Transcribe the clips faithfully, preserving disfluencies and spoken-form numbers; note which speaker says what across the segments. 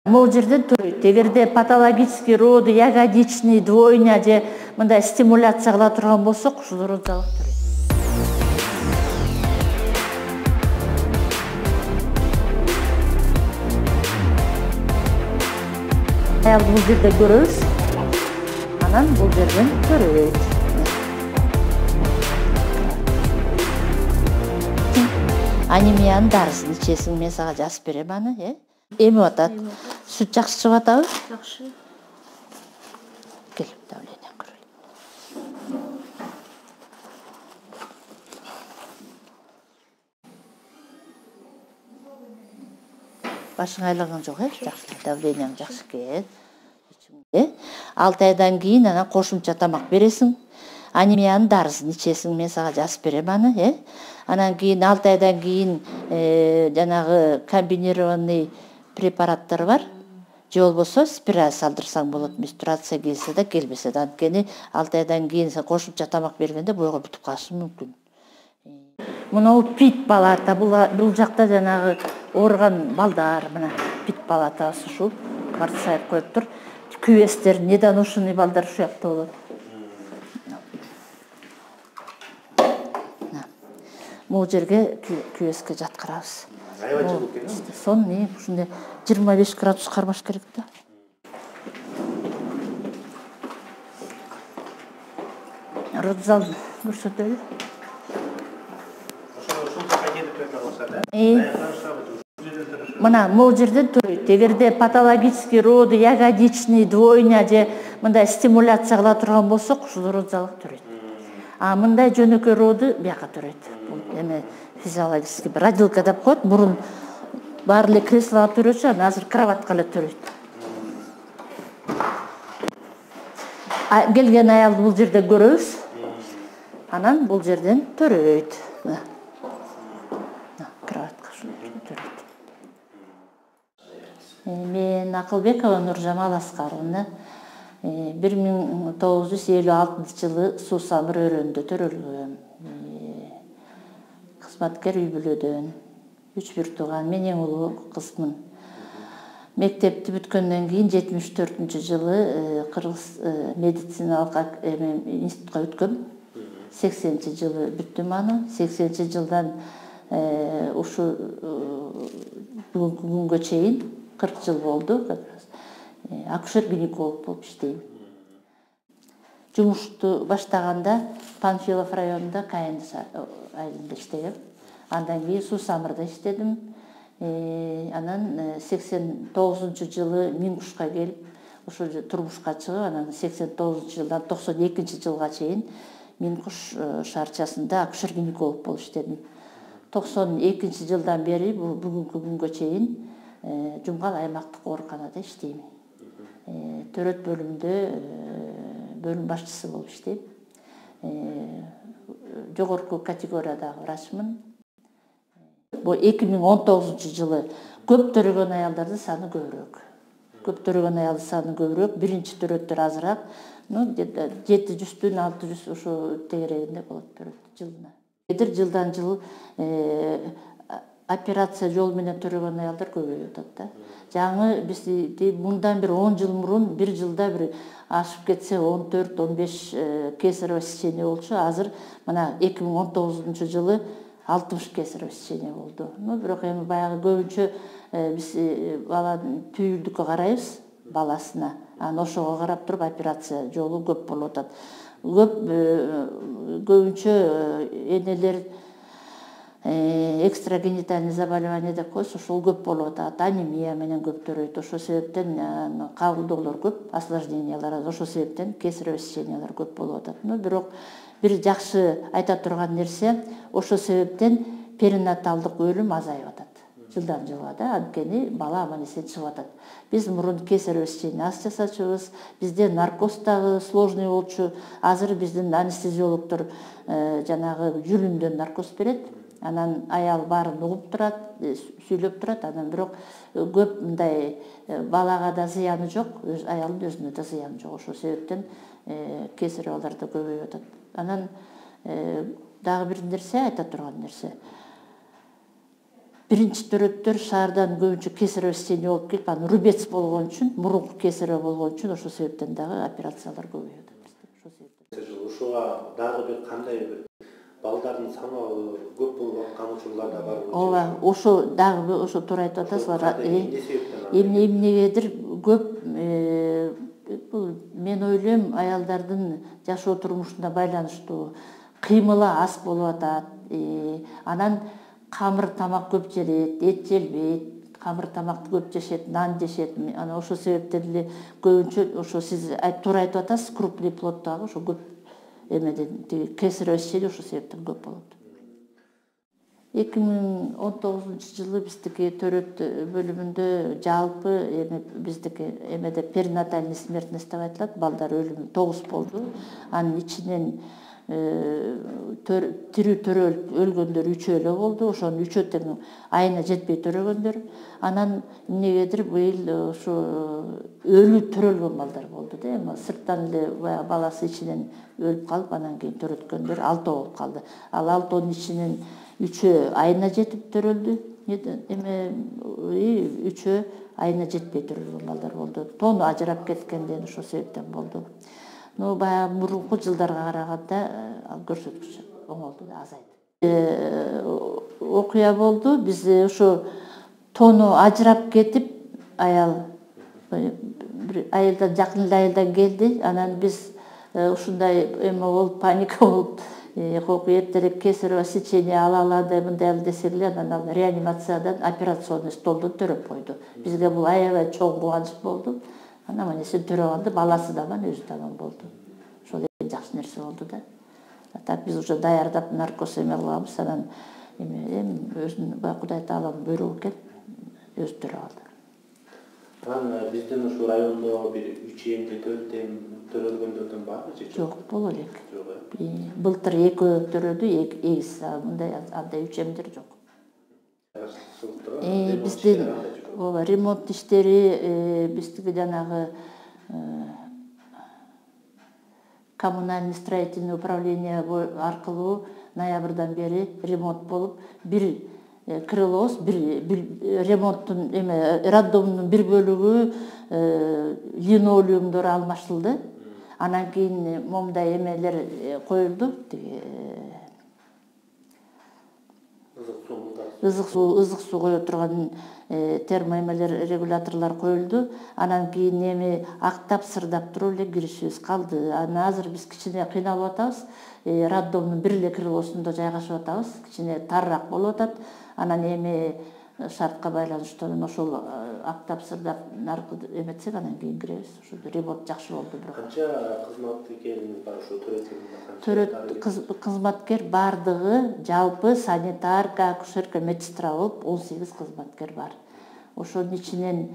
Speaker 1: Могул жерден төрөйт. Эгерде патологический роды, ягодичный, двойня же мындай стимуляция кыла турган болсок, ушул розалык төрөйт. Аялды бул жерде көрөбүз. Анан бул жерден төрөйт. Анемиянын дарысын ичесиң, мен сага жазып берем аны, э? Эми атат. Сүт жакшы чыгып атабы?
Speaker 2: Жакшы.
Speaker 1: Кел, давление көрөйүн. Башың айланган жок, э? Жакшы, давлениең жакшы экен. Э? алты айдан кийин анан кошумча тамак бересиң. Анемиянын дарысын ичесиң, мен сага жазып берем аны, э? Анан кийин алты айдан кийин жанагы комбинированный препараттар бар. Же болбосо спираль салдырсаң болот. Менструация келсе да, келбесе да. Анткени алты айдан кийин сен кошумча тамак бергенде бойго бүтүп калышы мүмкүн. Мына пит палата, бул жакта жанагы ооруган балдар, мына пит палатасы ушул кварцайып коюптур. Күбестер, недоношенный балдар ушул жакта болот. Могул жерге күбеске жаткырабыз.
Speaker 2: Аябай жылуу экен.
Speaker 1: Сон не, ушундай жыйырма беш градус кармаш керек да. Родзал көрсөтөлү. Мына могул жерден төрөйт. Эгерде патологический роды, ягодичный, двойня же мындай стимуляция кыла турган болсок, ушул родзалык төрөйт. А мындай жөнөкөй роды бияка төрөйт. Эме физиологический родилка деп коет, мурун баары эле креслого төрөчү, анан азыр кроватка эле төрөйт. Келген аялды бул жерде көрөбүз. Анан бул жерден төрөйт. Кроватка төрөйт. Мен Акылбекова Нуржамал Аскаровна бир миң тогуз жүз элүү алтынчы жылы Суусамыр өрөөнүндө төрөлгөм. Кызматкер үй бүлөдөн. Үч бир тууган, мен эң улуу кызмын. Мектепти бүткөндөн кийин жетимиш төртүнчү жылы Кыргыз медициналык институтка өткөм. сексенинчи жылы бүттүм аны. сексенинчи жылдан ушу бүгүнкү күнгө чейин кырк жыл болду. Акушер-гинеколог болуп иштейм. Жумушту баштаганда Панфилов районунда Кайын айылында иштегем. Андан кийин Суусамырда иштедим. Анан сексен тогузунчу жылы Миңкушка келип, ошо турмушка чыгып, анан сексен тогузунчу жылдан токсон экинчи жылга чейин Миңкуш шаарчасында акушер-гинеколог болуп иштедим. токсон экинчи жылдан бери бүгүнкү күнгө чейин Жумгал аймактык ооруканада иштейм. Төрөт бөлүмүндө бөлүм башчысы болуп иштейм. Жогорку категориядагы врачмын. Бул эки миң он тогузунчу жылы көп төрөгөн аялдардын саны көбүрөөк. Көп төрөгөн аялдын саны көбүрөөк, биринчи төрөттөр азыраак. Ну, жети жүздөн алты жүз ошо тегерегинде болот төрөт жылына. Эдир жылдан жыл операция жол менен төрөгөн аялдар көбөйүп атат да. Жаңы биз мындан бир он жыл мурун бир жылда бир ашып кетсе он төрт он беш кесарево сечение болчу. Азыр мына эки миң он тогузунчу жылы алтымыш кесарево сечение болду. Ну, бирок эми баягы көбүнчө биз баланын түйүлдүккө карайбыз, баласына. Анан ошого карап туруп операция жолу көп болуп атат. Көп көбүнчө энелер экстрагенитальный заболевание деп коебуз, ошол көп болуп атат. Анемия менен көп төрөйт. Ошол себептен кабылдоолор көп, осложнениялар, ошол себептен кесарево сечениялар көп болуп атат. Но бирок бир жакшы айта турган нерсе, ошол себептен перинаталдык өлүм азайып атат. Жылдан жылга да, анткени бала аман эсен чыгып атат. Биз мурун кесарево сечение аз жасачубуз, бизде наркоз дагы сложный болчу. Азыр биздин анестезиологдор жанагы жүлүндөн наркоз берет. Анан аял баарын угуп турат, сүйлөп турат, анан бирок көп мындай балага да зыяны жок, аялдын өзүнө да зыяны жок. Ошол себептен кесаревалар да көбөйүп атат. Анан дагы бир нерсе айта турган нерсе. биринчи төрөттөр шаардан көбүнчө кесарево сечение болуп келип, анан рубец болгон үчүн, мурунку кесарево болгон үчүн ошол себептен дагы операциялар көбөйүп атат. Ошол себептен.
Speaker 2: Ошого дагы бир кандай бир балдардын саны көп болуп аткан учурлар да бар.
Speaker 1: Ооба, ошо дагы ошо туура айтып атасыздар. Эмне эмнегедир көп бул мен ойлойм аялдардын жашоо турмушуна байланыштуу кыймылы аз болуп атат. Анан камыр тамак көп желет, эт желбейт, камыр тамакты көп жешет, нан жешет. Анан ошол себептен эле көбүнчө ошо сиз туура айтып атасыз, крупный плод дагы ошо көп эмеден тиги кесарево сечение ошол себептен көп болот. эки миң он тогузунчу жылы биздики төрөт бөлүмүндө жалпы эме биздики эмеде перинатальный смертность деп айтылат, балдар өлүмү тогуз болду. Анын ичинен тирүү төрөлүп өлгөндөр үчөө эле болду. Ошонун үчөө тең айына жетпей төрөгөндөр. Анан эмнегедир быйыл ушу өлүү төрөлгөн балдар болду да. Эми сырттан эле баягы баласы ичинен өлүп калып, анан кийин төрөткөндөр алтоо болуп калды. Ал алтоонун ичинен үчөө айына жетип төрөлдү. Эме үчөө айына жетпей төрөлгөн балдар болду. Тону ажырап кеткенден ошол себептен болду. Но баягы мурунку жылдарга караганда ал көрсөткүч оңолду да, азайды. Окуя болду. Биз ошо тону ажырап кетип, аял бир айылдан жакын эле айылдан келди. Анан биз ушундай эме болуп, паника болуп, кокуй эртерээк кесарево сечение ала алады, мындай ал десек эле, анан ал реанимациядан операционный столдон төрөп койду. Бизге бул аябай чоң кубаныч болду. Анан аман эсен төрөп алды, баласы да аман, өзү да аман болду. Ошол эң жакшы нерсе болду да. Так биз уже даярдап наркоз эме кылганбыз, анан эме эми өзүнүн баягы Кудай Тааланын буйругу экен, өзү төрөп алды.
Speaker 2: Анан биздин ушул райондо бир үч эмди төрт эм төрөлгөндөрдөн барбы же
Speaker 1: жок? Жок, боло элек.
Speaker 2: Жок э.
Speaker 1: Былтыр экөө төрөдү, эгиз, мындай андай үч эмдер жок. Биздин ооба ремонт иштери биздики жанагы коммунальный строительный управление аркылуу ноябрдан бери ремонт болуп, бир крылоос, бир ремонттун эме роддомдун бир бөлүгү линолеумдор алмашылды. Анан кийин момундай эмелер коюлду, тиги ызык суу, ызык суу кое турган термоэмелер, регуляторлор коюлду. Анан кийин эми актап, сырдап туруп эле киришибиз калды. Анан азыр биз кичине кыйналып атабыз. Роддомдун бир эле крылосунда жайгашып атабыз. Кичине тарыраак болуп атат. Анан эми шартка байланыштуу ошол актап, сырдап наркы эметсек, анан кийин киребиз. Ошол ремонт жакшы болду бирок.
Speaker 2: Канча кызматкериңиз бар ошо төрөт?
Speaker 1: Төрөт кызматкер бардыгы жалпы санитарка, акушерка, медсестра болуп он сегиз кызматкер бар. Ошонун ичинен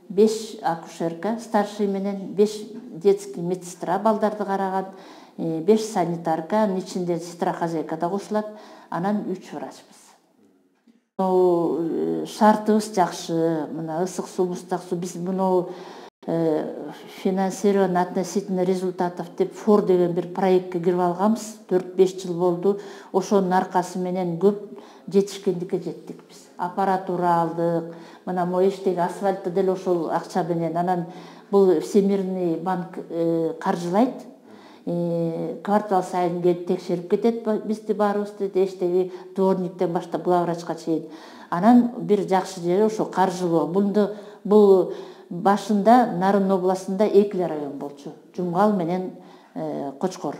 Speaker 1: беш акушерка, старший менен беш детский медсестра балдарды караган, беш санитарка, анын ичинде сестра хозяйка да кошулат, анан үч врачбыз. Шартыбыз жакшы, мына ысык суу, муздак суу, биз муну финансирование относительно результатов деп фор деген бир проектке кирип алганбыз. төрт беш жыл болду. Ошонун аркасы менен көп жетишкендикке жеттик биз. Аппаратура алдык. Мына могу эчтеги асфальтты деле ошол акча менен. Анан бул Всемирный банк каржылайт. Квартал сайын келип текшерип кетет бизди баарыбызды, эчтеги дворниктен баштап главврачка чейин. Анан бир жакшы жери ошо каржылоо. Бунду бул башында Нарын областында эки район болчу. Жумгал менен Кочкор.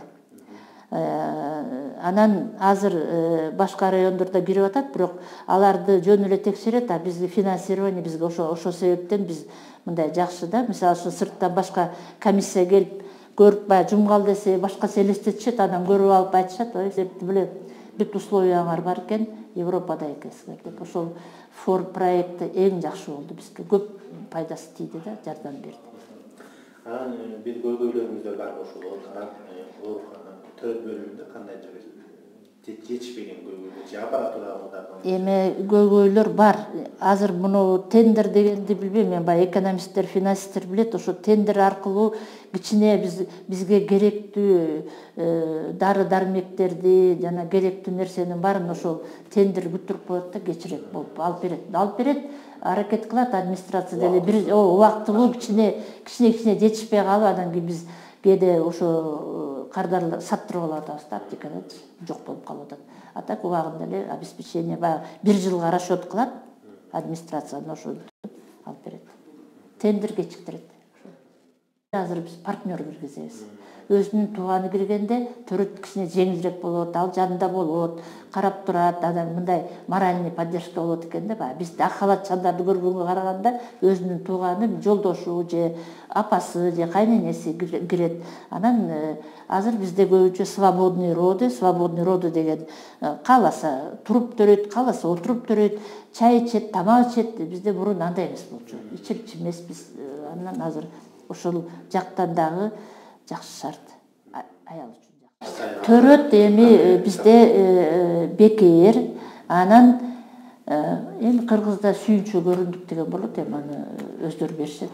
Speaker 1: Анан азыр башка райондордо кирип атат, бирок аларды жөн эле текшерет, а бизге финансирование бизге ошо ошол себептен биз мындай жакшы да. Мисалы ушу сырттан башка комиссия келип көрүп бая Жумгал десе башкача элестетишет, анан көрүп алып айтышат, ой септи биле бүт условиялар бар экен, Европада экенсиңер деп. Ошол фор проекти эң жакшы болду бизге. Көп пайдасы тийди да, жардам берди.
Speaker 2: Анан бир көйгөйлөрүңүздөр барбы ошол төрөт бөлүмүндө кандайча жетишпеген көйгөйлөр же аппаратурадан
Speaker 1: эме көйгөйлөр бар. Азыр муну тендер дегенди билбейм, мен баягы экономисттер, финансисттер билет, ошо тендер аркылуу кичине биз бизге керектүү дары дармектерди жана керектүү нерсенин баарын ошол тендер бүтүрүп коет да кечирет болуп алып берет. Алып берет, аракет кылат администрация деле бир убактылуу кичине кичине кичине жетишпей калып, анан кийин биз кээде ошо кардарлар саттырып алып атабыз да, аптекада жок болуп калып атат. А так убагында эле обеспечение баягы бир жылга расчет кылат администрация, ошо алып берет. Тендер кечиктирет. Азыр биз партнер киргизебиз. Өзүнүн тууганы киргенде төрөт кичине жеңилирээк болот, ал жанында болот, карап турат, анан мындай моральный поддержка болот экен да. Баягы биз ак халатчандарды көргөнгө караганда өзүнүн тууганы, жолдошу же апасы же кайненеси кирет. Анан азыр бизде көбүнчө свободный роды, свободный роды деген кааласа туруп төрөйт, кааласа отуруп төрөйт, чай ичет, тамак ичет. Бизде мурун андай эмес болчу. Ичип эмеспиз. Анан азыр ошол жактан дагы жакшы шарт аял үчүн. Төрөт эми бизде бекер, анан эми кыргызда сүйүнчө көрүндүк деген болот, эми аны өздөрү беришет.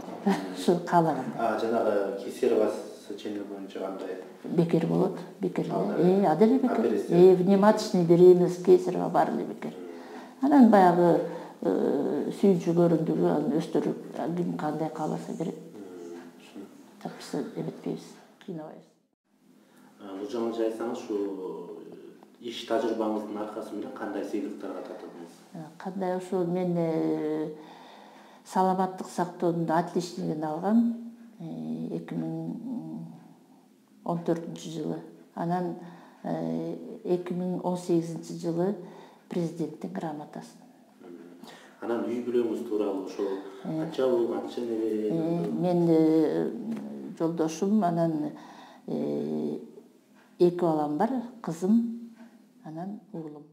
Speaker 1: Ушу каалагандай.
Speaker 2: А жанагы кесарево сечение боюнча кандай?
Speaker 1: Бекер болот, бекер. Э, аделе бекер. Э, внематочный беременность, кесарево баары эле бекер. Анан баягы сүйүнчө көрүндүгү анын өздөрү ким кандай кааласа берет. Так биз эметпейбиз, кыйнабайбыз.
Speaker 2: Нуржамал айтсаңыз, ушу иш тажрыйбаңыздын аркасы менен кандай сыйлыктарга татыдыңыз?
Speaker 1: Кандай ошо мен саламаттык сактоонун отличнигин алгам эки миң он төртүнчү жылы. Анан эки миң он сегизинчи жылы президенттин грамотасын.
Speaker 2: Анан үй бүлөңүз тууралуу ошол канча уул, канча небере?
Speaker 1: Мен жолдошум, анан эки балам бар, кызым, анан уулум.